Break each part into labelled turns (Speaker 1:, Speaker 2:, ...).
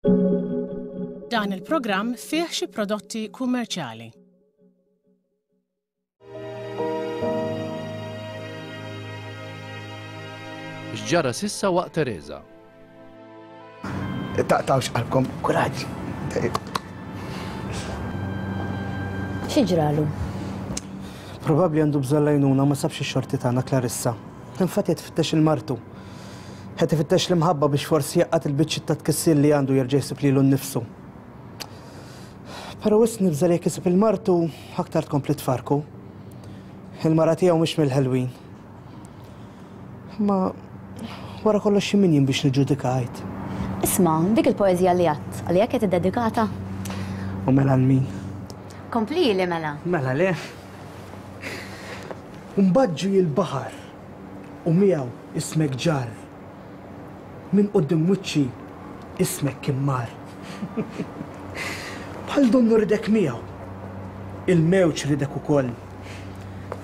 Speaker 1: Dan il-programm fih xi prodotti kummerċjali.
Speaker 2: X'ġara s'issa waqt Tereża?
Speaker 3: Taqtgħux qalbkom, kuraġġ.
Speaker 4: Xi ġralu?
Speaker 3: Probabbli għandu bżonn l-għajnuna u ma sabx ix-xorti tagħna Clarissa. Infatti qed ifittex 'il martu. Qed ifittex l-imħabba biex forsi jgħaqqad il-biċċiet ta' tkissir li għandu jerġa' jsib lilu nnifsu. Però wisq nibża' li jekk isib 'il martu aktar tkompli tfarrku. Il-mara tiegħu mhix mill-ħelwin. Imma wara kollox xi min jien biex niġġudika għid.
Speaker 4: Isma', dik il-poeżija li għadt, għalija kienet iddedikata?
Speaker 3: U mela għal min?
Speaker 4: Komplili mela.
Speaker 3: Mela le. U mbagħad ġie l-baħar u miegħu ismek ġarr. Minn quddiem wiċċi ismek kien mar. Bħal donnu ridek miegħu. Il-mewġ ridek ukoll.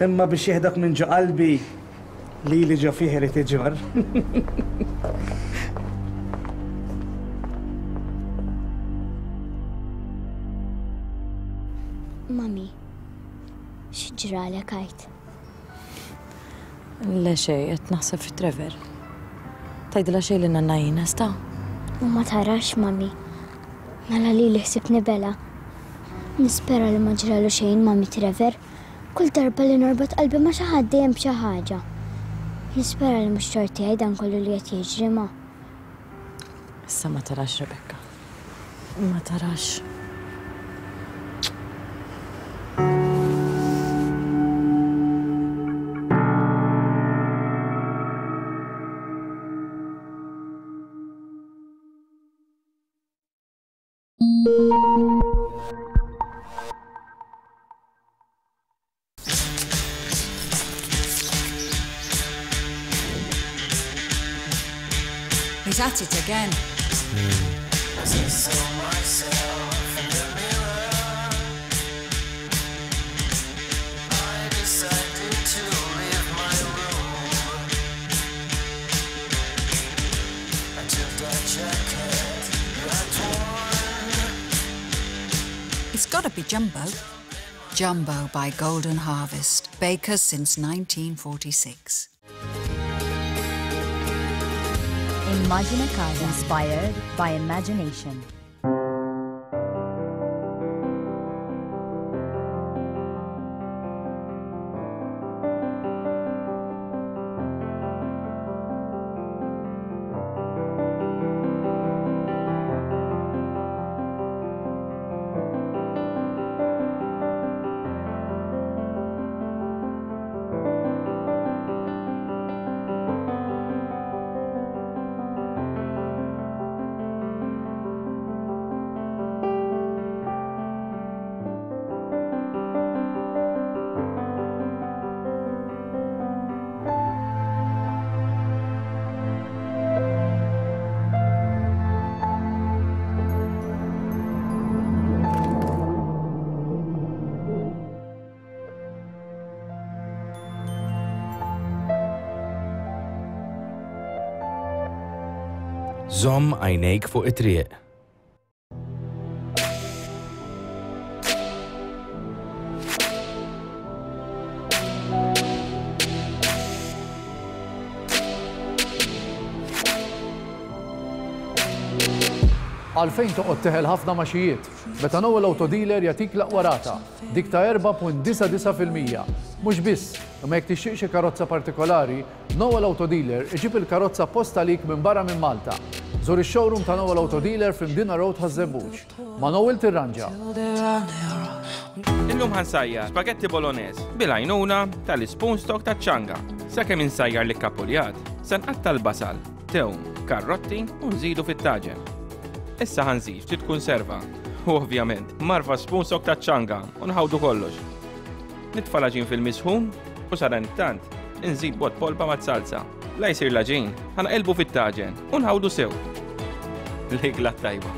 Speaker 3: Imma biex jieħdok minn ġo qalbi, lili ġo fih irid iġorr.
Speaker 5: Mummy, Xi ġralek għid?
Speaker 6: Le xejn, qed naħseb fi Trevor. Tgħidilha xejn lil nanna Ines, ta?
Speaker 5: U ma tarax, mami. Mela lili ħsibni bela. Nispera li ma ġralu xejn, mami Trevor. Kull darba li norbot qalbi ma' xi ħadd dejjem b'xi ħaġa. Nispera li mhux tort tiegħi dan kollu li qed jiġri, ma.
Speaker 6: Issa ma tarax, Rebecca. Ma tarax.
Speaker 7: He's at it again. It's gotta be Jumbo. Jumbo by Golden Harvest, bakers since 1946.
Speaker 4: Immagine Casa, inspired by imagination.
Speaker 2: Żomm għajnejk fuq it-triq.
Speaker 8: Għalfejn toqgħod teħel ħafna maxijiet? Meta Noel Auto Dealer jagħtik l-aqwa rata, dik ta' 4.99%. Mhux biss, imma jekk tixtieq xi karozza partikolari, Noel Auto Dealer iġib il-karozza apposta għalik minn barra minn Malta. Żur ix-showroom ta' Noel Auto Dealer fl-Imdina Road Ħaż-Żebbuġ. Ma' Noel tirranġa.
Speaker 9: Illum ħa nsajjar spagetti bolognese bil-għajnuna tal-ispoon stock taċ-ċanga. Sakemm insajjar l-ikkapuljat, se nqatta' l-basal, tewm, karrotti u nżidu fit-taġen. Issa ħa nżid ftit kunserva u ovvjament marfa spoon stock taċ-ċanga u nħawdu kollox. Nitfa' l-għaġin fil-misħun u sadanittant inżid bot polpa mat-salza. La jsir l-għaġin, ħa naqilbu fit-taġen u nħawdu sew. L-ikla tajba.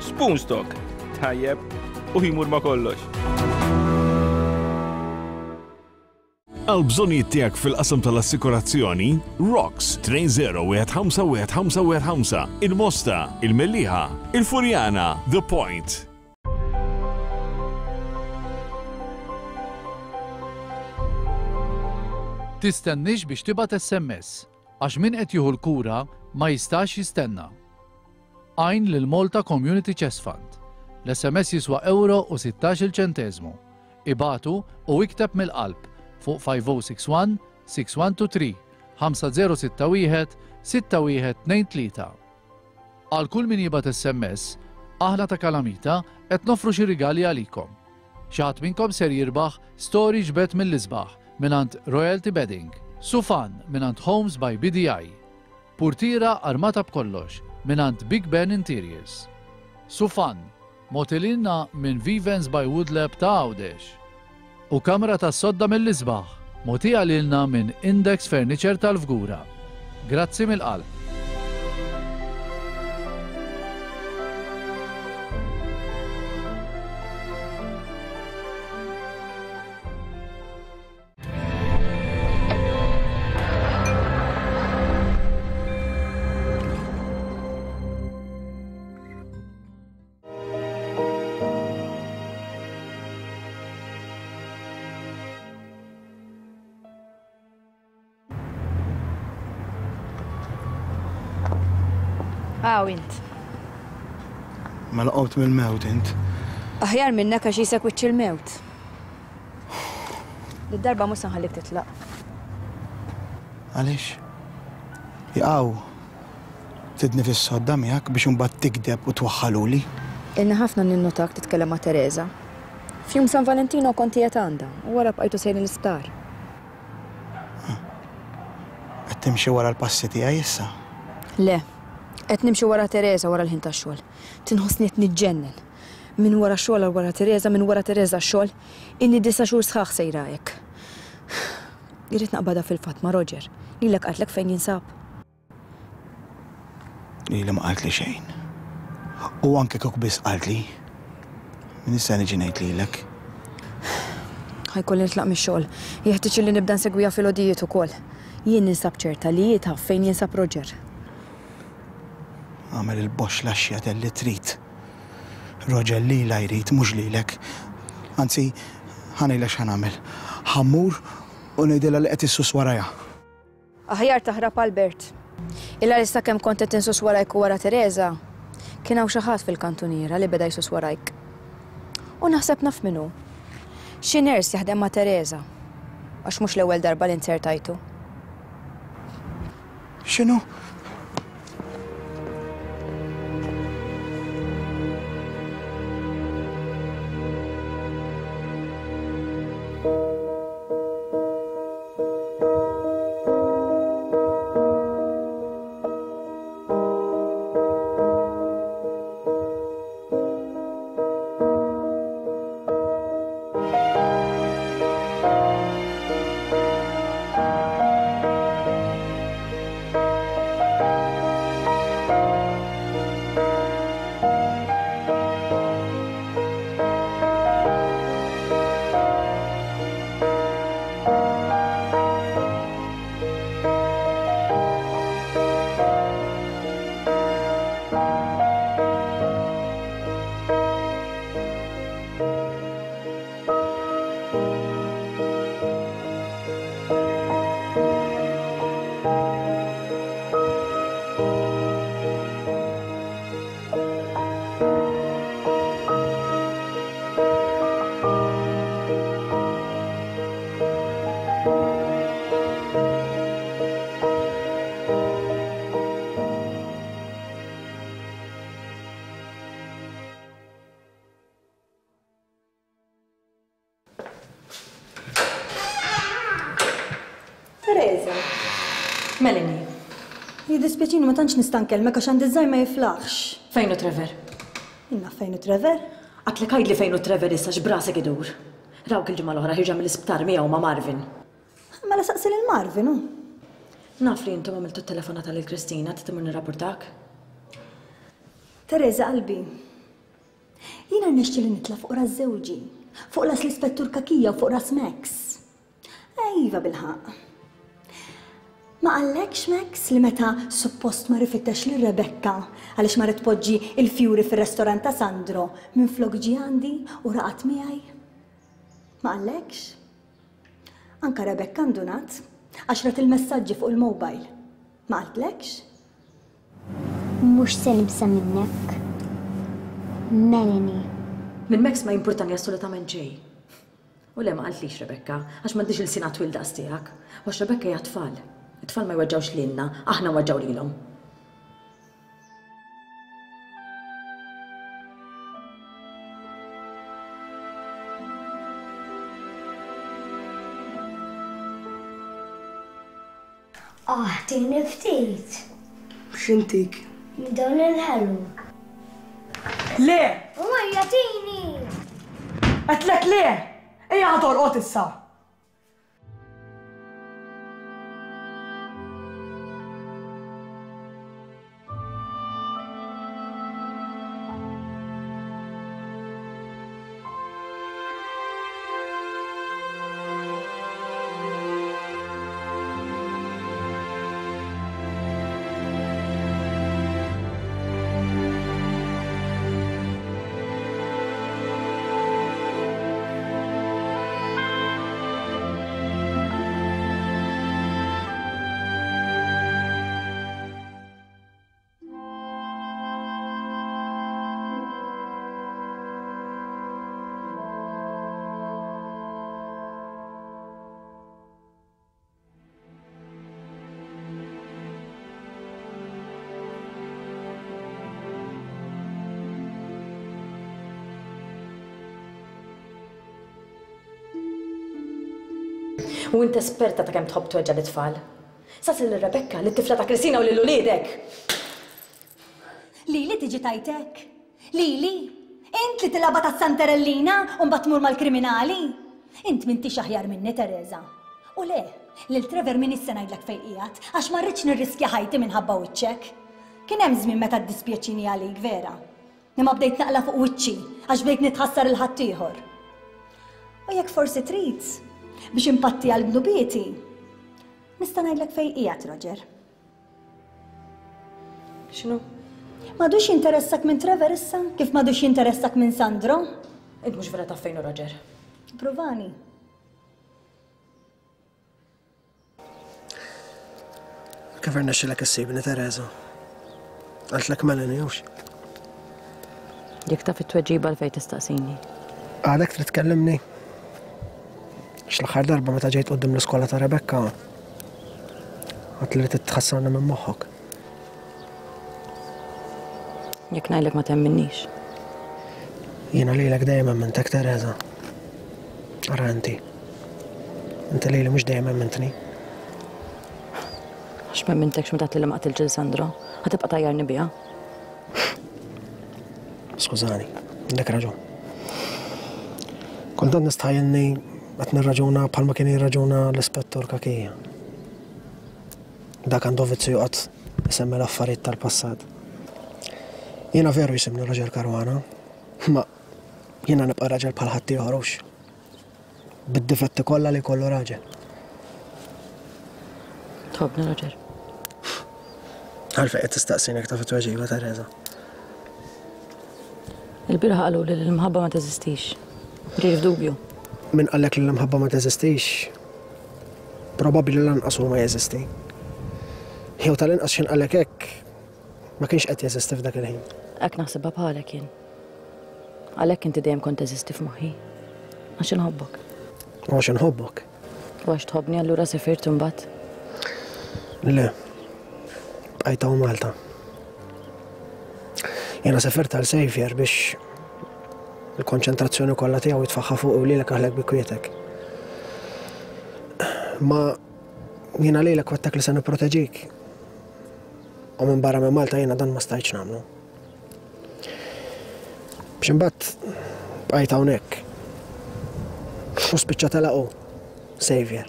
Speaker 9: Spoon stock. Tajjeb u jmur ma' kollox.
Speaker 10: Għall-bżonnijiet tiegħek fil-qasam tal-assikurazzjoni, Rocks, 20151515, il-Mosta, il-Mellieħa, il-Furjana, The Point.
Speaker 8: Tistenniex biex tibgħat SMS, għax min qed jieħu l-kura ma jistax jistenna. Għin lil Malta Community Chest Fund. L-SMS jiswa ewro u sittax-il ċenteżmu. Ibagħtu u ikteb mill-qalb fuq 5061 6123 5061 6123. Għal kull min jibgħat SMS, aħna ta' Kalamita qed noffru xi rigali għalikom. Xi ħadd minnkom ser jirbaħ storage bed mill-isbaħ mingħand Royalty Bedding, sufan mingħand Homes by BDI, Purtiera armata b'kollox mingħand Big Ben Interiors. Sufan, mogħti lilna minn Vivens by Woodlab ta' Għawdex. U kamra tas-sodda mill-isbaħ, mogħtija lilna minn Index Furniture tal-Fgura. Grazzi mill-qalb.
Speaker 6: Aw int.
Speaker 3: Mela qomt mill-mewt int.
Speaker 6: Aħjar minnek għax jisek wiċċ il-mewt. Did-darba mhux se nħallik titlaq.
Speaker 3: Għaliex? Jaqaw, tidni fis-sodda miegħek biex imbagħad tigdeb u twaħħaluli.
Speaker 6: Ilni ħafna ninnotak titkellem ma' Tereża. F'jum San Valentino kont qiegħed għandha u wara bqajtu sejrin l-isptar.
Speaker 3: Qed timxi wara l-passi tiegħi issa?
Speaker 6: Le. Qed nimxi wara Tereża wara l-ħin tax-xogħol. Tinħossni qed niġġennen. Minn wara x-xogħol għal wara Tereża, minn wara Tereża għax-xogħol. Ilni disa' xhur sħaħ sejra hekk. Irrid naqbadha fil-fatt ma' Roger. Lilek qaltlek fejn jinsab?
Speaker 3: Lili ma qaltli xejn. U anke kieku biss qaltli, min issa niġi ngħid lilek?
Speaker 6: Ħa jkolli nitlaq mix-xogħol. Jeħtieġ illi nibda nsegwiha filgħodijiet ukoll. Jien ninsab ċerta li hi taf fejn jinsab Roger.
Speaker 3: Agħmel il-boxx laxxjatel li trid. Roger lilha jrid, mhux lilek. Anzi, ħa ngħidlek x'ħa nagħmel. Ħa mmur u ngħidilha li qed issus warajha.
Speaker 6: Aħjar taħrab Albert. Il-għaliex sakemm kont qed insus warajk u wara Tereża, kien hawn xi ħadd fil-kantuniera li beda jsus warajk. U naħseb naf min hu. Xi nurse jaħdem ma' Tereża. Għax mhux l-ewwel darba li nzertajtu.
Speaker 3: X'inhu?
Speaker 6: Teresa. Melanie.
Speaker 11: Jiddispjaċini ma tantx nista' nkellmek għax għandi żgħir ma jiflaħx.
Speaker 6: Fejn hu Trevor?
Speaker 11: Jien naf fejn hu Trevor.
Speaker 6: Għadtlek għidli fejn hu Trevor issa x'brasek idur. Rawk il-ġimgħa l-oħra ħierġa mill-isptar miegħu ma' Marvin.
Speaker 11: Mela saqsi lil Marvin hu.
Speaker 6: Naf li intom għamiltu t-telefonata lil Kristina, trid immur nirrapportak?
Speaker 11: Teresa qalbi. Jiena rnexxieli nitla' fuq ras żewġi, fuq ras l-Ispettur Cachia u fuq ras Max. Iva bilħaqq. Ma qallekx Max li meta suppost mar ifittex lil Rebecca għaliex marret tpoġġi il-fjuri fir-restorant ta' Sandro minflok ġie għandi u raqad miegħi? Ma qallekx? Anka Rebecca ndunat għax rat il-messaġġi fuq il-mobile. Ma qaltlekx?
Speaker 5: Mhux se nibża' minnek. Melanie.
Speaker 6: Minn Max ma jimpurtani assolutament xejn. U le ma qaltlix Rebecca, għax m'għandhiex ilsienha twil daqs tiegħek. U għax Rebecca hija tfal. It-tfal ma jweġġgħux lilna, aħna nweġġgħu lilhom.
Speaker 5: Ah, tini ftit.
Speaker 12: X'intik?
Speaker 5: Minn dawn il-ħelu.
Speaker 12: Le!
Speaker 5: U ejja tini!
Speaker 12: Għedtlek le! Ejja ħa torqod issa!
Speaker 6: U int esperta ta' kemm tħobb tweġġa' lit-tfal. Saqsi lil Rebecca, lit-tifla ta' Kristina u lil uliedek!
Speaker 11: Lili tiġi tgħid hekk? Lili? Int li tilgħabha tas-Santerellina u mbagħad tmur mal-kriminali? Int m'intix aħjar minni, Tereża. U le, lil Trevor m'iniex se ngħidlek fejn qiegħed, għax ma rridx nirriskja ħajti minħabba wiċċek. Kien hemm żmien meta ddispjaċini għalik, vera. Imma bdejt naqla' fuq wiċċi għax bdejt nitħassar 'il ħaddieħor. U jekk forsi trid, biex impatti għal dnubieti, nista' ngħidlek fejn qiegħed Roger.
Speaker 6: X'inhu?
Speaker 11: M'għadux jinteressak minn Trevor issa, kif m'għadux jinteressak minn Sandro?
Speaker 6: Int mhux vera taf fejn hu Roger.
Speaker 11: Pruvani.
Speaker 12: Kif irnexxilek issibni, Teresa? Qaltlek Melanie, hux?
Speaker 6: Jekk taf it-tweġiba għalfejn tistaqsini.
Speaker 12: Għadek trid tkellimni? Għax l-aħħar darba meta ġejt quddiem l-iskola ta' Rebecca, għedt li trid tħassarni minn moħħok.
Speaker 6: Jekk ngħidlek ma temminnix.
Speaker 12: Jiena lilek dejjem emmintek, Teresa. Ara inti. Inti lili mhux dejjem emmintni.
Speaker 6: Għax ma emmintekx meta għedtli li ma qatiltx lil Sandro. Ħa tibqa' tgħajjarni biha.
Speaker 12: Skużani, għandek raġun. Kultant nistħajjilni qed nirraġuna bħalma kien jirraġuna l-Ispettur Cachia. Dak għandu vizzju joqgħod isemmi l-affarijiet tal-passat. Jiena veru jisimni Roger Caruana, imma jiena nibqa' raġel bħal ħaddieħor hux? Bid-difetti kollha li jkollu raġel.
Speaker 6: Tħobbni Roger?
Speaker 12: Għalfejn qed tistaqsini jekk taf it-tweġiba, Teresa?
Speaker 6: Il-bieraħ qaluli li l-imħabba ma teżistix. Ġej f'dubju.
Speaker 12: Min qallek li l-imħabba ma teżistix, probabbli lanqas hu ma jeżisti. Jew tal-inqas x'ħin qallek hekk, ma kienx qed jeżisti f'dak il-ħin.
Speaker 6: Hekk naħsibha bħalek jien. Għalhekk inti dejjem kont teżisti f'moħħi. Għax inħobbok.
Speaker 12: U għax inħobbok.
Speaker 6: U għax tħobbni allura sifirt imbagħad?
Speaker 12: Le. Bqajt hawn Malta. Jiena sefirt għal Xavier biex il-konċentrazzjoni kollha tiegħu jitfaħħa fuq u lilek aħlek bi kwietek. Ma jiena lilek wettek li se nipproteġik. U minn barra minn Malta jiena dan ma stajtx nagħmlu. Biex imbagħad bqajt hawnhekk. U spiċċa telaq hu, Xavier.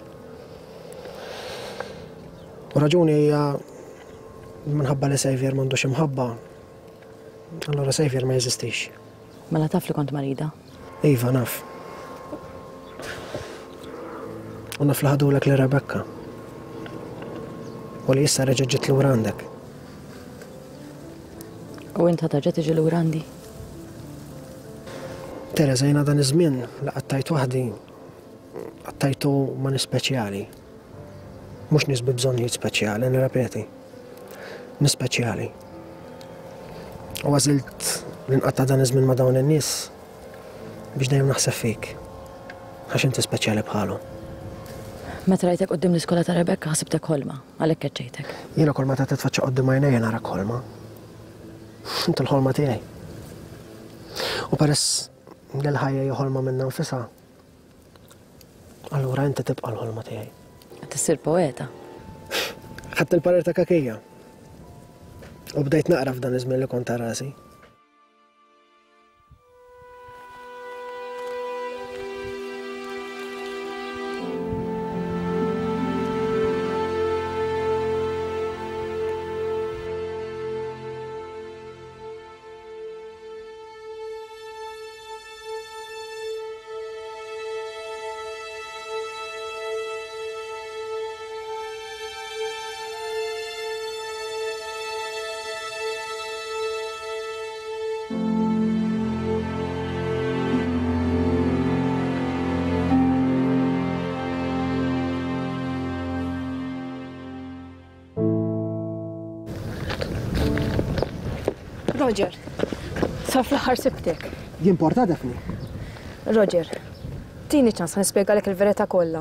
Speaker 12: U raġuni hija minħabba li Xavier m'għandux imħabba, allura Xavier ma jeżistix.
Speaker 6: Mela taf li kont marida?
Speaker 12: Iva, naf. U naf li ħadulek lil Rebecca. U li issa reġgħet ġiet lura għandek.
Speaker 4: U int ħa terġa' tiġi lura għandi?
Speaker 12: Teresa, jiena dan iż-żmien li qattajt waħdi, qattajtu ma' nies speċjali. Mhux nies bi bżonnijiet speċjali, nirrepeti. Nies speċjali. U għażilt li nqatta' dan iż-żmien ma' dawn in-nies biex dejjem naħseb fik. Għax inti speċjali bħalhom.
Speaker 4: Meta rajtek quddiem l-iskola ta' Rebecca ħsibtek ħolma, għalhekk keċċejtek.
Speaker 12: Jiena kull meta titfaċċa quddiem għajnejja narak ħolma. Inti l-ħolma tiegħi. U peress li l-ħajja hija ħolma minnha nfisha, allura inti tibqa' l-ħolma tiegħi.
Speaker 4: Qed issir poeta.
Speaker 12: Ħadt il-parir ta' Kakija. U bdejt naqra f'dan iż-żmien li kont ta' rasi.
Speaker 6: Roger, sa fl-aħħar sibtek.
Speaker 12: Jimporta Daphne?
Speaker 6: Roger, tini ċans nispjegalek il-verità kollha.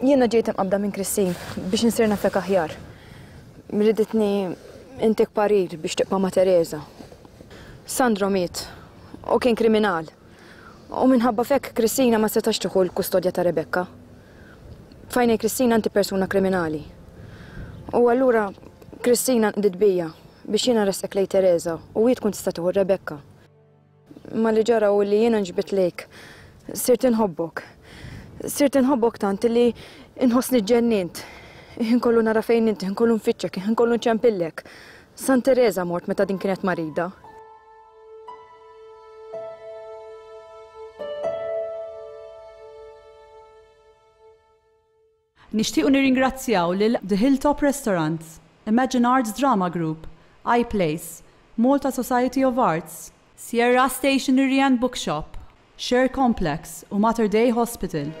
Speaker 6: Jiena ġejt imqabbda minn Christine biex insir nafek aħjar. Riditni intik parir biex tibqa' ma' Teresa. Sandro miet u kien kriminal. U minħabba f'hekk Christina ma setax tieħu l-kustodja ta' Rebecca. F'għajnejn Christina inti persuna kriminali. U allura Christina nqdiet bija biex jiena nressqek lejn Teresa u hi tkun tista' tieħu Rebecca. Imma li ġara hu li jiena nġbidt lejk. Sirt inħobbok. Sirt inħobbok tant li inħossni ġġennint. Ħin kollu nara fejn inti, ħin kollu nfittxek, ħin kollu nċempillek. San Tereża mort meta din kienet marida.
Speaker 13: Nixtiequ nirringrazzjaw lil The Hilltop Restaurant, Imagine Arts Drama Group, iPlace, Malta Society of Arts, Sierra Stationery and Bookshop, Share Complex u Mater Dei Hospital.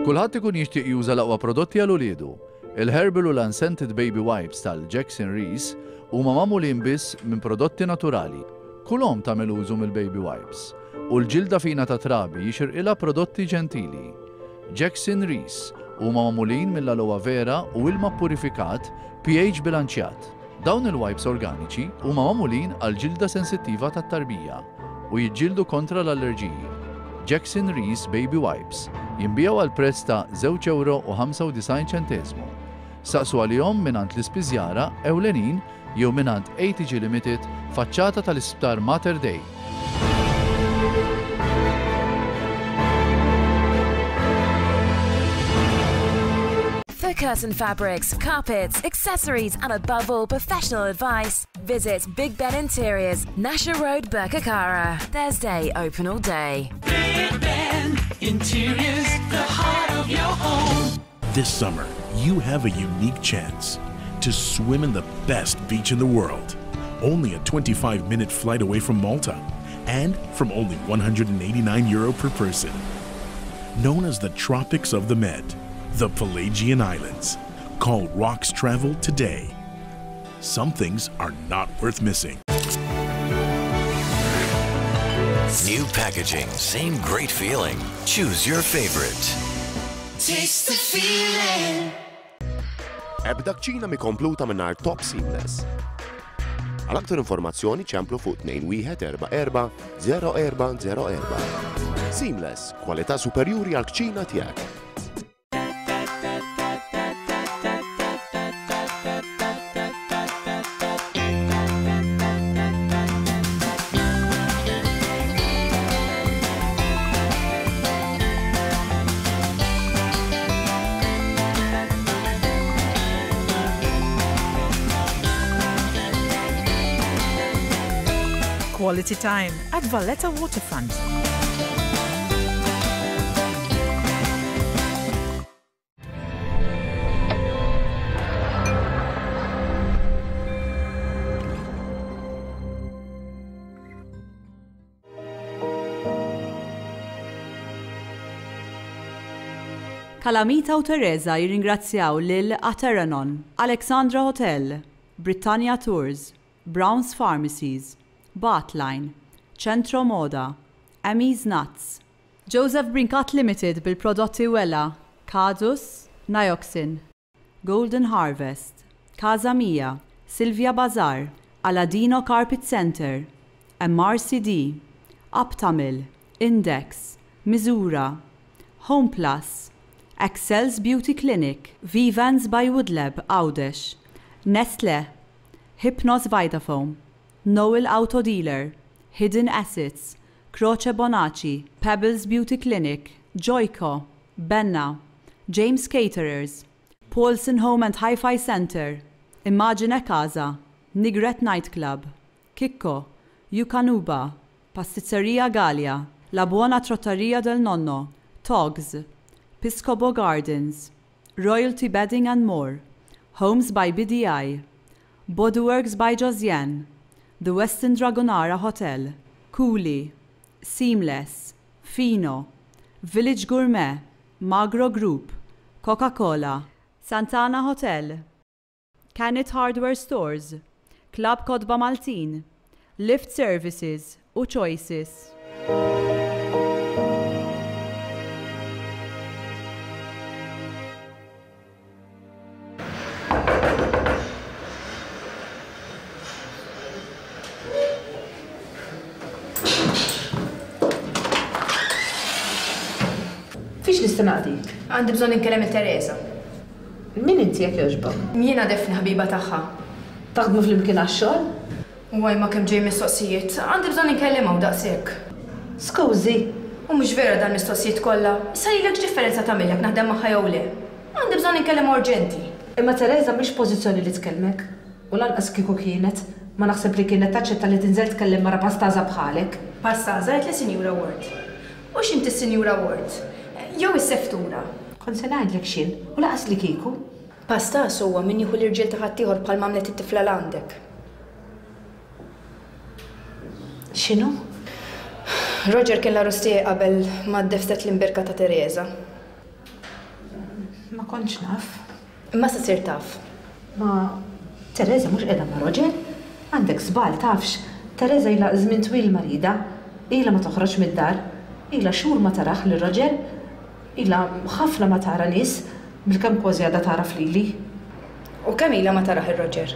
Speaker 8: Kulħadd ikun jixtieq juża l-aqwa prodotti għal uliedu. Il-Herbal u l-Unscented Baby Wipes tal-Jackson Rees huma magħmulin biss minn prodotti naturali. Kull omm tagħmel użu mill-baby wipes. U l-ġilda fina ta' trabi jixirqilha prodotti ġentili. Jackson Rees huma magħmulin mill-aloe vera u ilma ppurifikat pH bilanċjat. Dawn il-wipes organiċi huma magħmulin għall-ġilda sensittiva tat-tarbija u jiġġieldu kontra l-allerġiji. Jackson Rees Baby Wipes jinbiegħu għal prezz ta' żewġ ewro u 95 ċenteżmu. Saqsu għalihom mingħand l-ispiżjara ewlenin jew mingħand ATG Limited faċċata tal-Isptar Mater Dei.
Speaker 14: For curtain fabrics, carpets, accessories, and above all, professional advice, visit Big Ben Interiors, Nasher Road, Birkirkara. Thursday, open all day.
Speaker 15: Big Ben Interiors, the heart of your home.
Speaker 10: This summer, you have a unique chance to swim in the best beach in the world. Only a 25 minute flight away from Malta and from only 189 euro per person. Known as the Tropics of the Med, the Pelagian Islands. Call Rocks Travel today. Some things are not worth missing.
Speaker 16: New packaging, same great feeling. Choose your favorite.
Speaker 15: Taste the feeling.
Speaker 17: Ebda kċina mi kompluta mingħajr Top Seamless. Għal aktar informazzjoni ċemplu fuq 2144 0404. Seamless, kwalità superjuri għal kċina tiegħek.
Speaker 18: Quality time at Valletta Waterfront.
Speaker 13: Kalamita u Teresa jirringrazzjaw lil Ateranon, Alexandra Hotel, Britannia Tours, Brown's Pharmacies, Bathline, Centro Moda, Amy's Nuts, Joseph Brincat Limited bil-prodotti Wella, Kadus, Nioxin, Golden Harvest, Casa Mia, Silvia Bazar, Aladino Carpet Centre, MRCD, Aptamil, Index, Miżura, Home Plus, Excels Beauty Clinic, Vivans by Woodlab, Għawdex, Nestle, Hypnos Vitafoam, Noel Auto Dealer, Hidden Assets, Croce Bonaci, Pebbles Beauty Clinic, Joyco, Benna, James Caterers, Paulson Home and Hi-Fi Centre, Immagine Casa, Nigret Night Club, Kikko, Yukanuba, Pastizzeria Galea, La Buona Trattoria del Nonno, Togs, Piscopo Gardens, Royalty Bedding and More, Homes by BDI, Bodyworks by Josiane, The Westin Dragonara Hotel, Cooley, Seamless, Fino, Village Gourmet, Magro Group, Coca-Cola, Santana Hotel, Canet Hardware Stores, Club Kotba Maltin, Lift Services u Choices.
Speaker 19: Fiex nista' naqdik?
Speaker 6: Għandi bżonn inkellem il Teresa.
Speaker 19: Min inti jekk jogħġbok?
Speaker 6: Jiena Daphne ħabiba tagħha.
Speaker 19: Taħdmu flimkien għax-xogħol?
Speaker 6: Waj ma kemm ġej mistoqsijiet. Għandi bżonn inkellimha u daqshekk.
Speaker 19: Skużi.
Speaker 6: U mhux vera dal-mistoqsijiet kollha. Issa lilek x'differenza tagħmillek naħdem magħha jew le? Għandi bżonn inkellimha urġenti.
Speaker 19: Imma Teresa mhix f'pożizzjoni li tkellmek. U lanqas kieku kienet, ma naħseb li kienet taċċetta li tinżel tkellem mara pastaża bħalek.
Speaker 6: Pastaża għedtli Sinjura Ward. U x'inti s-Sinjura Ward? Jew is-seftura?
Speaker 19: Kont se ngħidlek x'jien, u lanqas li kieku.
Speaker 6: Pastaż huwa min jieħu l-irġiel ta' ħaddieħor bħalma għamlet it-tifla 'l għandek.
Speaker 19: X'inhu?
Speaker 6: Roger kien l-għarus tiegħi qabel ma ddefset l-imbierka ta' Teresa.
Speaker 19: Ma kontx naf.
Speaker 6: Imma issa sirt taf.
Speaker 19: Ma Teresa mhux qiegħda ma' Roger. Għandek żball, tafx. Teresa ilha żmien twil marida. Ilha ma toħroġ mid-dar. Ilha xhur ma tarah lil Roger. Ilha ħafna ma tara nies. Bilkemm kważi għadha tagħraf lili.
Speaker 6: U kemm ilha ma tarah il-Roger?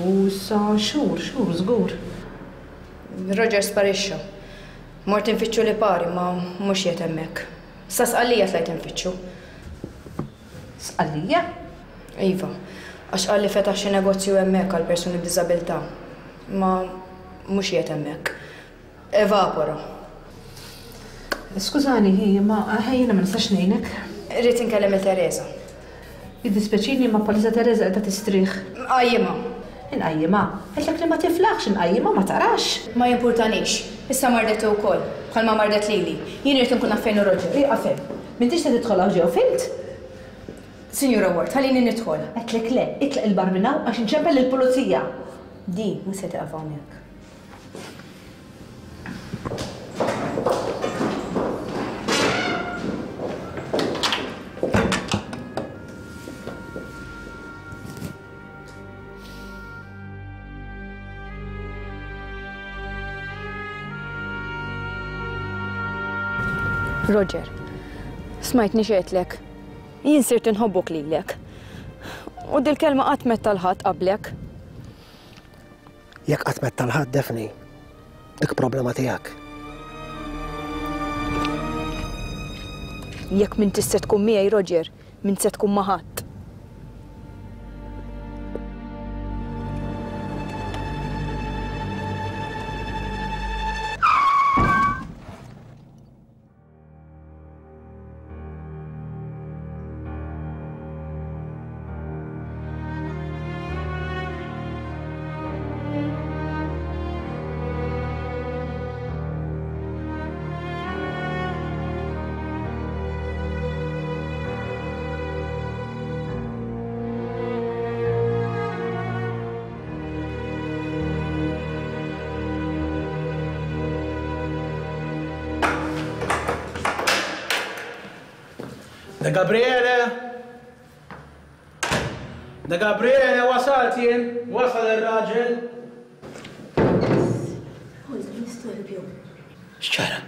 Speaker 19: U issa xhur, xhur żgur.
Speaker 6: Roger sparixxa. Mort infittxu Lipari imma mhux qiegħed hemmhekk. Sa Sqallija tlajt infittxu.
Speaker 19: Sqallija?
Speaker 6: Iva. Għax qal li fetaħ xi negozju hemmhekk għal persuni b'diżabilità. Imma mhux qiegħed hemmhekk. Evapora.
Speaker 19: Skużani, hi, imma jiena ma nistax ngħinek.
Speaker 6: Irrid inkellem lil Teresa.
Speaker 19: Jiddispjaċini imma bħalissa Teresa qiegħda tistrieħ.
Speaker 6: Nqajjimha.
Speaker 19: Inqajjimha? Għedtlek li ma tiflaħx inqajjimha ma tarax.
Speaker 6: Ma jimpurtanix. Issa mardet hi wkoll, bħalma mardet lili. Jien irrid inkun naf fejn hu Roger.
Speaker 19: Ieqaf hemm. M'intix se tidħol hawn ġew, fhimt?
Speaker 6: Sinjura Ward, ħallini nidħol.
Speaker 19: Għedtlek le, itlaq 'il barra minn hawn għax inċempel lill-pulizija.
Speaker 6: Di mhux se tieqaf hawnhekk. Roger, smajtni x'għedtlek. Jien sirt inħobbok lilek. U dil-kelma qatt m'għedtha 'l ħadd qablek.
Speaker 12: Jekk qatt m'għedtha 'l ħadd, Daphne, dik problema tiegħek.
Speaker 6: Jekk m'intix se tkun miegħi, Roger, m'int se tkun ma' ħadd.
Speaker 3: De Gabriele! De Gabriele, wasalt jien! Wasal ir-raġel!
Speaker 4: Hold, nistorbju.
Speaker 3: X'ġara?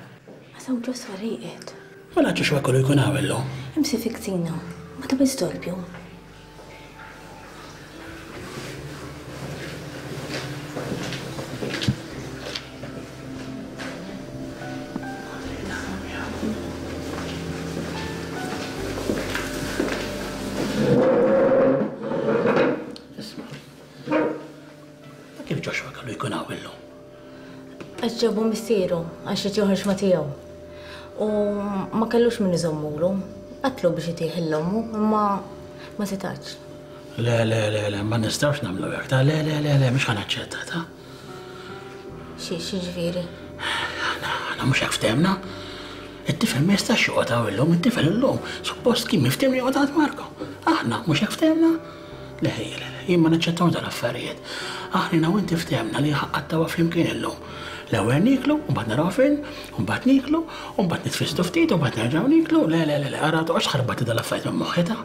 Speaker 4: Għasaw ġoswa rieqed.
Speaker 3: Mela Joshua kollu jkun hawn illum.
Speaker 4: Imsi fi kzina. Ma ta' storbju.
Speaker 3: Isma'. Kif Joshua kellu jkun hawn illum?
Speaker 4: Għax ġabu missieru għax irid joħroġ ma' tiegħu. U ma kellux min iżommulu. Għatlu biex itih l-ommu, imma ma setax.
Speaker 3: Le, le, le, le, ma nistgħux nagħmlu hekk, ta' le, le, le, le, mhux ħa naċċetta, ta'.
Speaker 4: Xi ġifieri?
Speaker 3: Aħna mhux hekk ftehmna. It-tifel ma jistax joqgħod hawn illum, it-tifel illum suppost kien miftehim li joqgħod għand Marco. Aħna mhux hekk ftehmna? Le ħejja, le, le, jien ma naċċettawx dal-affarijiet. Aħna jiena u inti ftehmna li ħa nqattgħuha flimkien illum. L-ewwel nieklu, u mbagħad naraw film, u mbagħad nieklu, u mbagħad nitfissdu ftit, u mbagħad nerġgħu nieklu. Le, le, le, le, ara toqgħodx tħarbatli dal-affarijiet minn moħħi ta'.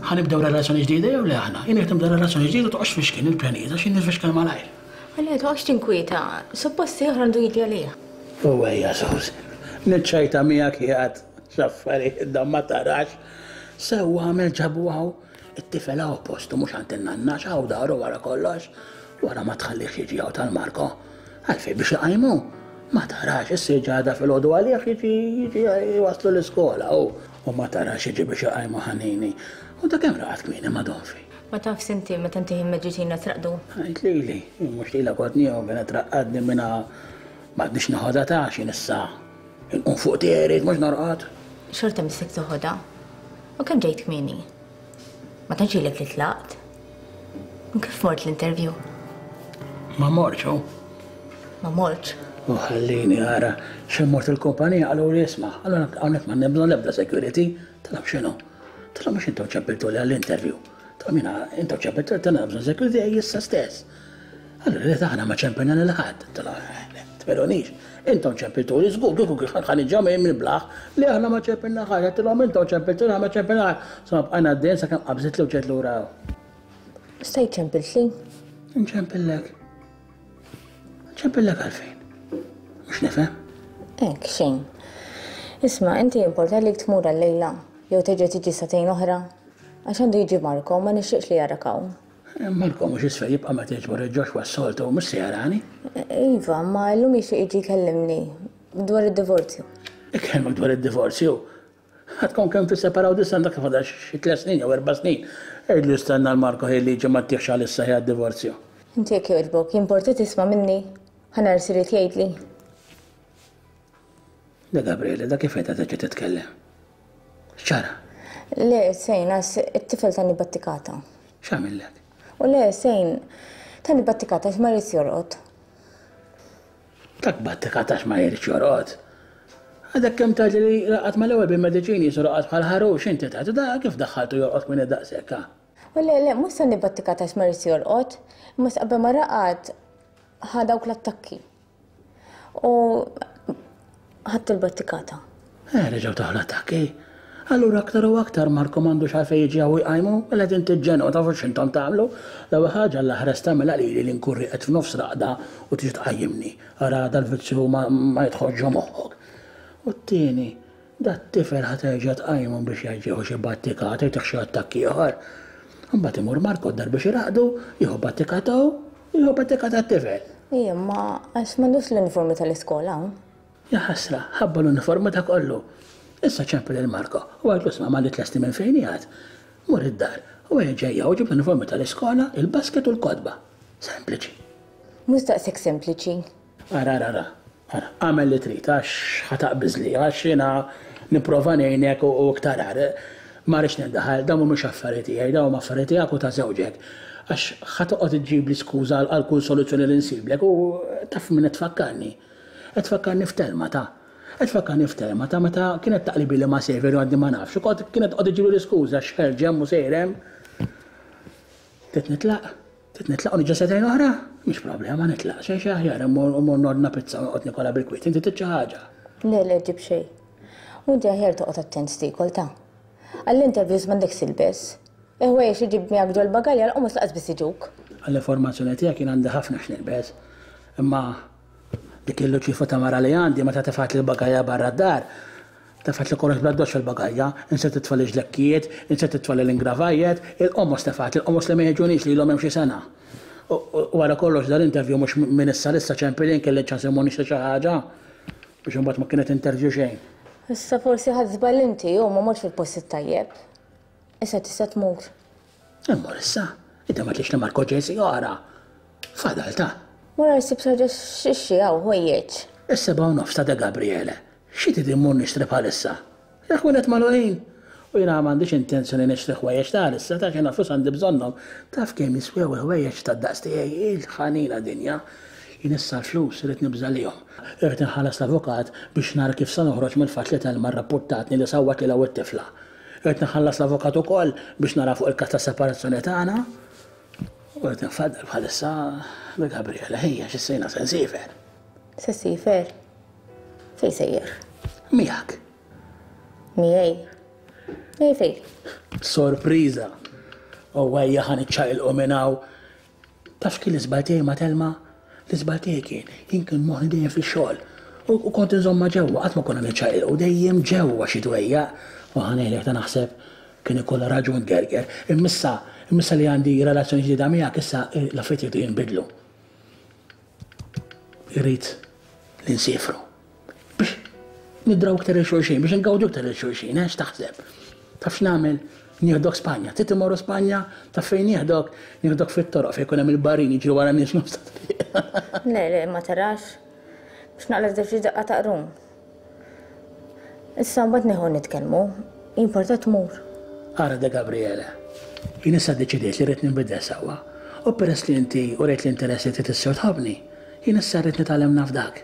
Speaker 3: Ħa nibdew relazzjoni ġdida jew le aħna? Jien jekk nibda relazzjoni ġdida toqgħodx tfixkilni l-pjanijiet għax jien nifixkel malajr.
Speaker 4: Le, toqgħodx tinkwieta, suppost ieħor għandu jiġi għalih.
Speaker 3: U ejja Susan, niċċajta miegħek qiegħed x'affarijiet dawn ma tarax. Sewwa għamel ġabu hawn, it-tifel hawn postu mhux għand in-nanna għax hawn daru wara kollox. Wara ma tħallihx jiġi hawn tal-Marco. Għalfejn biex iqajmu? Ma tarax, issa jiġi għada filgħodu għalih jiġi jiġi jwasslu l-iskola hu. U ma tarax jiġi biex iqajmu ħanini. U ta' kemm raqad kmieni ma' Donfi?
Speaker 4: Ma tafx inti meta ntih il-meġġitina traqdu?
Speaker 3: Għid lili, jien mhux lilek kont nieħu kienet traqqadni minha m'għadnix neħodha ta' x'jien issa inqum fuq tiegħi rrid mhux norqod.
Speaker 4: Xorta missek toħodha. U kemm ġejt kmieni? Ma tantx ilek li tlaqt. U kif mort l-interview?
Speaker 3: Ma mortx hu.
Speaker 4: Ma mortx?
Speaker 3: U ħallini ara, xi mort il-kumpanija qaluli isma' allura hawnhekk m'għandna bżonn l-ebda security. Tagħlem x'inhu? Tagħlem mhux intom ċempiltuli għall-interview. Tagħlem jiena intom ċempiltuli tagħna bżonn security ej issa stess. Allura li aħna ma ċempilna lil ħadd. Tagħlem tmelunix. Intom ċempiltuli żgur kieku ħa niġi minn blaħ li aħna ma ċempilna ħadd. Għedtilhom intom ċempiltuli aħna ma ċempilna ħadd. Insomma bqajna għaddejjin sakemm qabżitli u ġejt lura hawn.
Speaker 4: Stajt ċempiltli?
Speaker 3: Nċempillek. Nċempillek għalfejn? Mhux nifhem.
Speaker 4: Hekk, xejn. Isma', inti jimporta li tmur għal-lejla jew terġa' tiġi sagħtejn oħra? Għax għandu jiġi Marco u ma nixtieqx li jarak hawn.
Speaker 3: Marco mhux isfel jibqa' meta jiġbor il-Joshua s-soltu u mhux se jarani.
Speaker 4: Iva, ma llum jixtieq jiġi jkellimni dwar id-divorzju.
Speaker 3: Ikellmek dwar id-divorzju? Għadkom kemm tisseparaw disa għandek fadal xi tlett snin jew erba' snin. Għidlu jistenna l-Marco ħin li jiġi ma ttihx għalissa ħi għad-divorzju.
Speaker 4: Inti jekk jogħġbok, jimporta tisma' minni? Ħa nara x'irid jgħidli.
Speaker 3: Le Gabriele, da kif qiegħda terġa' titkellem? X'ġara?
Speaker 4: Le, xejn, għax it-tifel tani battikata.
Speaker 3: X'għamillek?
Speaker 4: U le, xejn, tani battikata għax ma jridx jorqod.
Speaker 3: Dak battikat għax ma jridx jorqod. Għadek kemm tgħidli li raqad mal-ewwel bil-mediċini jisu raqad bħal ħarux inti tgħid u da kif daħħaltu jorqod kmieni daqshekk ha?
Speaker 4: U le, le, mhux tani battikat għax ma jridx jorqod, imma qabel ma raqad ħa dawk l-attakki. U ħadt il-battikata.
Speaker 3: Eh, reġgħu taħ l-attakki. Allura aktar u aktar Marco m'għandux għalfejn jiġi hawn u jqajmu, mela qegħdin tiġġennu, tafu x'intom tagħmlu? L-ewwel ħaġa Alla ħares tagħmilha lili li nkun rieqed f'nofs raqda u tiġi tqajjimni. Ara dal-vizzju ma jidħolx ġo moħħok. U t-tieni, dat-tifel ħa terġa' tqajmu biex jgħid jieħu xi battikata, jtih xi attakk ieħor. Imbagħad imur Marco d-dar biex iraqqdu, jieħu battikata hu, u jieħu battikata t-tifel.
Speaker 4: Ija, imma għax m'għandux l-uniformi tal-iskola hawn.
Speaker 3: Jaħasra, ħabba l-uniformi ta' kollu. Issa ċempel lil Marco u għidlu isma' malli tlesti minn fejn qiegħed. Mur id-dar u ejja ġejja u ġib l-uniformi tal-iskola, il-basket u l-kotba. Sempliċi.
Speaker 4: Mhux daqshekk sempliċi.
Speaker 3: Ara, ara, ara, ara, agħmel li trid għax ħa taqbiżli, għax jiena nipprova ngħinek u iktar agħar. Ma rridx nindaħal, dawn mhumiex affarijiet tiegħi, dawn huma affarijiet tiegħek u ta' żewġek. Għax ħa toqgħod iġġibli skuża għal kull soluzzjoni li nsiblek u taf min qed tfakkarni. Qed tfakkarni f'Telma ta'. Qed tfakkarni f'Telma ta' meta kienet taqlibili ma' Saviour u għadni ma nafx u kont kienet toqgħod iġġibli l-iskuża x'ħerġ hemm u sejr hemm. Trid nitlaq? Trid nitlaq u niġi sagħtejn oħra? Mhix problema nitlaq, xejn xejn aħjar immur immur nordna pizza u noqgħod nikolha bil-kwiet. Inti trid xi ħaġa?
Speaker 4: Le le ġib xejn. U inti aħjar toqgħod attent x'tiekol ta'. Għall-interviews m'għandekx tilbes. Il-ħwejjeġ li ġibt miegħek ġol-bagalja l-qomos lanqas biss jiġuk.
Speaker 3: Għall-informazzjoni tiegħek jien għandi ħafna x'nilbes. Imma dik il-luċifa ta' mara li għandi meta tefgħetli l-bagalja barra d-dar, tefgħetli kollox bl-addoċċ fil-bagalja, insiet titfagħli ġlekkijiet, insiet titfagħli l-ingravajjet, il-qomos tefgħetli, il-qomos li ma jiġunix li ilhom hemm xi sena. U wara kollox dal-interview mhux minn issa 'l issa ċempilin kelli ċans immur nixtri xi ħaġa biex imbagħad ma kienet interview xejn.
Speaker 4: Issa forsi ħadt żball inti u ma mortx fil-post it-tajjeb. Issa tista' tmur.
Speaker 3: Immur issa? Inti ma tlix li Marco ġej siegħa oħra. Fadal ta'.
Speaker 4: Mur għal ssib xi ħaġa x'tixtri hawn, ħwejjeġ.
Speaker 3: Is-sebgħa u nofs ta' De Gabriele. Xi trid immur nixtri bħalissa? Il-ħwienet magħluqin! U jiena m'għandix intenzjoni nixtri ħwejjeġ ta' għalissa, taf jiena l-flus għandi bżonnhom. Taf kemm jiswew il-ħwejjeġ tad-daqs tiegħi? Il-ħanina dinja! Jien issa l-flus irrid nibża' lihom. Irrid inħallas l-avukat biex nara kif se noħroġ mill-fatt li Thelma rrappurtatni li sawwat lilha u t-tifla. Irrid inħallas l-avukat ukoll biex nara fuq il-każ tas-separazzjoni tagħna. U rrid infaddal bħalissa bi Gabriele. Ejja, għax issa jiena se nsiefer.
Speaker 4: Se ssiefer? Fejn sejjer?
Speaker 3: Miegħek.
Speaker 4: Miegħi? Miegħi fejn?
Speaker 3: Sorpriża! U ejja ħa niċċaqilqu minn hawn. Taf x'kien l-iżball tiegħi ma' Thelma? L-iżball tiegħi kien, jien kien moħħni dejjem fix-xogħol. U kont inżommha ġewwa, qatt ma konna niċċaqilqu, dejjem ġewwa xi dwejjaq. U ħa ngħidlek ta' naħseb kien ikollha raġun tgerger. Imma issa, imma issa li għandi relazzjoni ġdida miegħek, issa l-affarijiet iridu jinbidlu. Irrid li nsiefru. Biex nidraw iktar lil xulxin, biex ingawdu iktar lil xulxin, eh, x'taħseb? Taf x'nagħmel? Nieħdok Spanja. Trid immorru Spanja? Taf fejn nieħdok? Nieħdok fit-toroq fejn ikun hemm il-barin jiġru wara n-nies nofs ta' triq.
Speaker 4: Le, le, ma tarax. Biex naqla' żewġ daqqa ta' qrun. Issa mbagħad nieħu nitkellmu. Jimporta tmur.
Speaker 3: Ara De Gabriele, jien issa ddeċidejt li rrid ninbidel sewwa. U peress li inti urejt l-interess li trid issew tħobbni, jien issa rrid nitgħallem nafdak.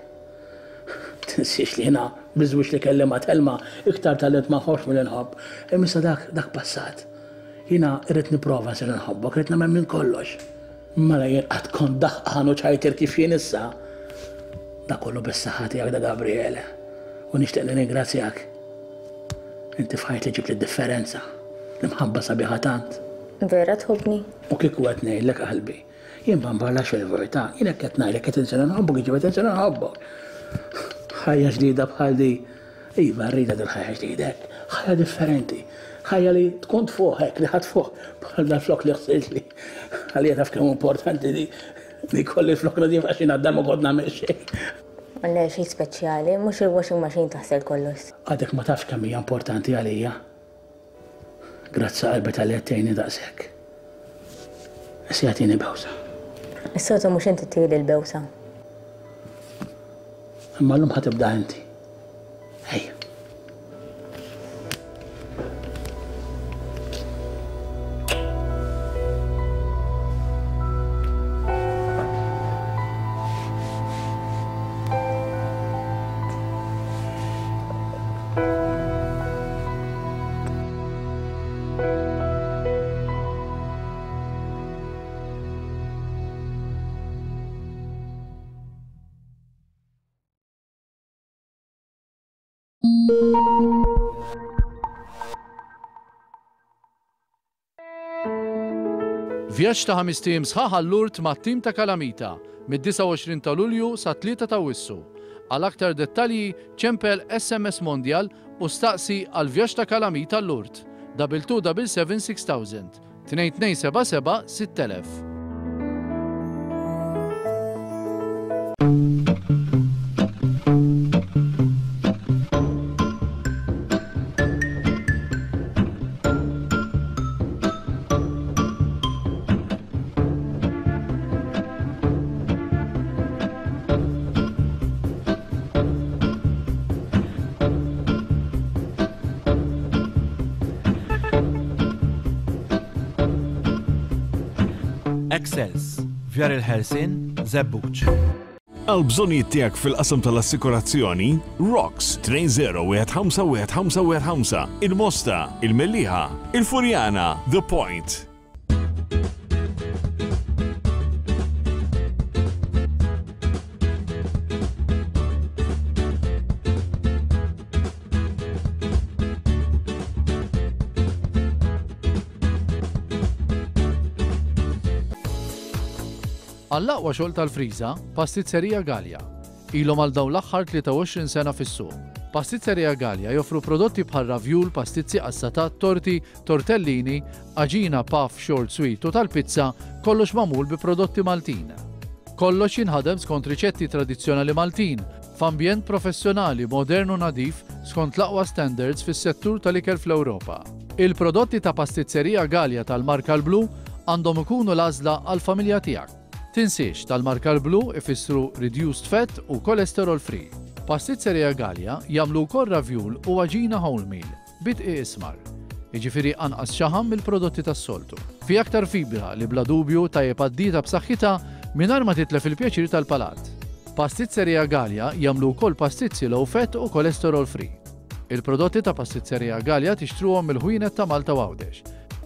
Speaker 3: Tinsiex li jiena biż-żwieġ li kelli ma' Thelma iktar tgħallimt ma nħobbx milli nħobb. Imma issa dak, dak passat. Jiena rrid nipprova nsir inħobbok, rrid nagħmel minn kollox. Mela jien qatt kont daħqan u ċajtier kif jien issa? Dak kollu bis-saħħa tiegħek Da Gabriele. U nixtieq nirringrazzjak. Inti f'ħajti ġibtli d-differenza. L-imħabba sabiħa tant.
Speaker 4: Vera tħobbni?
Speaker 3: U kieku qed ngħidlek qalbi. Jien ma nbarlax fil-verità, jien hekk qed ngħidlek qed insir inħobbok, jiġifieri qed insir inħobbok. Ħajja ġdida bħal di. Iva, rridha dil-ħajja ġdida hekk. Ħajja differenti. Ħajja li tkun tfuħ hekk, li ħadd fuq bħal dal-flok li ħsiltli. Għalija taf kemm importanti di li jkolli l-flok nadif għax jiena d-dar ma kont nagħmel xejn.
Speaker 4: Le, xejn speċjali, mhux il-washing machine taħsel kollox.
Speaker 3: Għadek ma tafx kemm hija importanti għalija. Grazzi qalbi talli qed tgħinni daqshekk. Issa jagħtini bewsa.
Speaker 4: Is-soltu mhux inti ttili l-bewsa.
Speaker 3: Imma llum ħa tibda inti. Ejja.
Speaker 8: Vjaġġ ta' ħamest ijiem sħaħ għal Lourdes mat-tim ta' Kalamita, mid-29 ta' Lulju sat-3 ta' Awwissu. Għal aktar dettalji ċempel SMS Mondial u staqsi għal vjaġġ ta' Kalamita Lourdes, 2277 6000, 2277 6000.
Speaker 20: Excels, Vjar il-Ħelsien, Żebbuġ.
Speaker 10: Għal bżonnijiet tiegħek fil-qasam tal-assikurazzjoni, Rocks 20151515, il-Mosta, il-Mellieħa, il-Furjana, The Point.
Speaker 8: Għall-aqwa xogħol tal-friża, Pastizzerija Galea. Ilhom għal dawn l-aħħar 23 sena fis-suq. Pastizzerija Galea joffru prodotti bħal ravjul, pastizzi qassatat, torti, tortellini, għaġina puff, short sweet u tal-pizza, kollox magħmul bi prodotti Maltin. Kollox jinħadem skont riċetti tradizzjonali Maltin, f'ambjent professjonali, modern u nadif skont l-aqwa standards fis-settur tal-ikel fl-Ewropa. Il-prodotti ta' Pastizzerija Galea tal-marka l-blu għandhom ikunu l-għażla għall-familja tiegħek. Tinsiex, tal-marka l-blu ifissru reduced fat u cholesterol free. Pastizzerija Galea jagħmlu wkoll ravjul u għaġina wholemeal bi dqiq ismar. Jiġifieri anqas xaħam mill-prodotti tas-soltu. Fi aktar fibra li bla dubju tajjeb għad-dieta b'saħħitha mingħajr ma titlef il-pjaċir tal-palat. Pastizzerija Galea jagħmlu wkoll pastizzi low fat u cholesterol free. Il-prodotti ta' Pastizzerija Galea tixtruhom mill-ħwienet ta' Malta u Għawdex.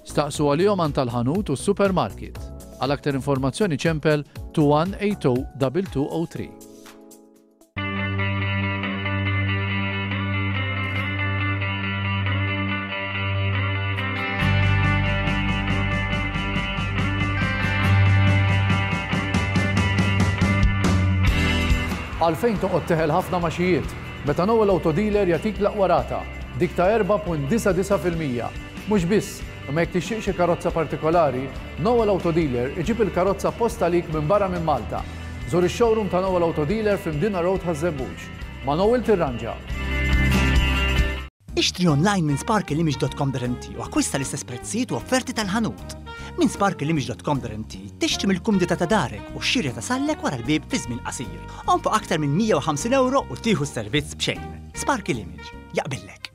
Speaker 8: Staqsu għalihom għand tal-ħanut u s-supermarket. Għal aktar informazzjoni ċempel 2180 2203. Għalfejn toqgħod teħel ħafna maxijiet? Meta Noel Auto Dealer jagħtik l-aqwa rata, dik ta' 4.99%. Mhux biss, imma jekk tixtieq xi karozza partikolari, Noel Auto Dealer iġib il-karozza apposta għalik minn barra minn Malta. Żur ix-showroom ta' Noel Auto Dealer fi Mdina Road Ħaż-Żebbuġ. Ma' Noel tirranġa.
Speaker 21: Ixtri online minn sparkleimage.com.mt u akkwista l-istess prezzijiet u offerti tal-ħanut. Minn sparkleimage.com.mt tixtri mill-kumdità ta' darek u x-xirja tasallek wara l-bieb fi żmien qasir. Onfoq aktar minn 150 ewro u tieħu s-servizz b'xejn. Sparkle Image. Jaqbillek.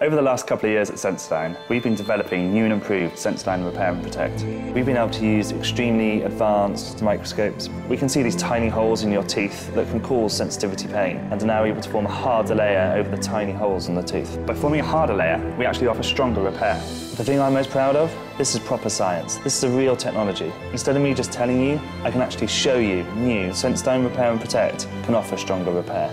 Speaker 22: Over the last couple of years at Sensodyne, we've been developing new and improved Sensodyne Repair and Protect. We've been able to use extremely advanced microscopes. We can see these tiny holes in your teeth that can cause sensitivity pain and are now able to form a harder layer over the tiny holes in the tooth. By forming a harder layer, we actually offer stronger repair. The thing I'm most proud of? This is proper science. This is a real technology. Instead of me just telling you, I can actually show you new Sensodyne Repair and Protect can offer stronger repair.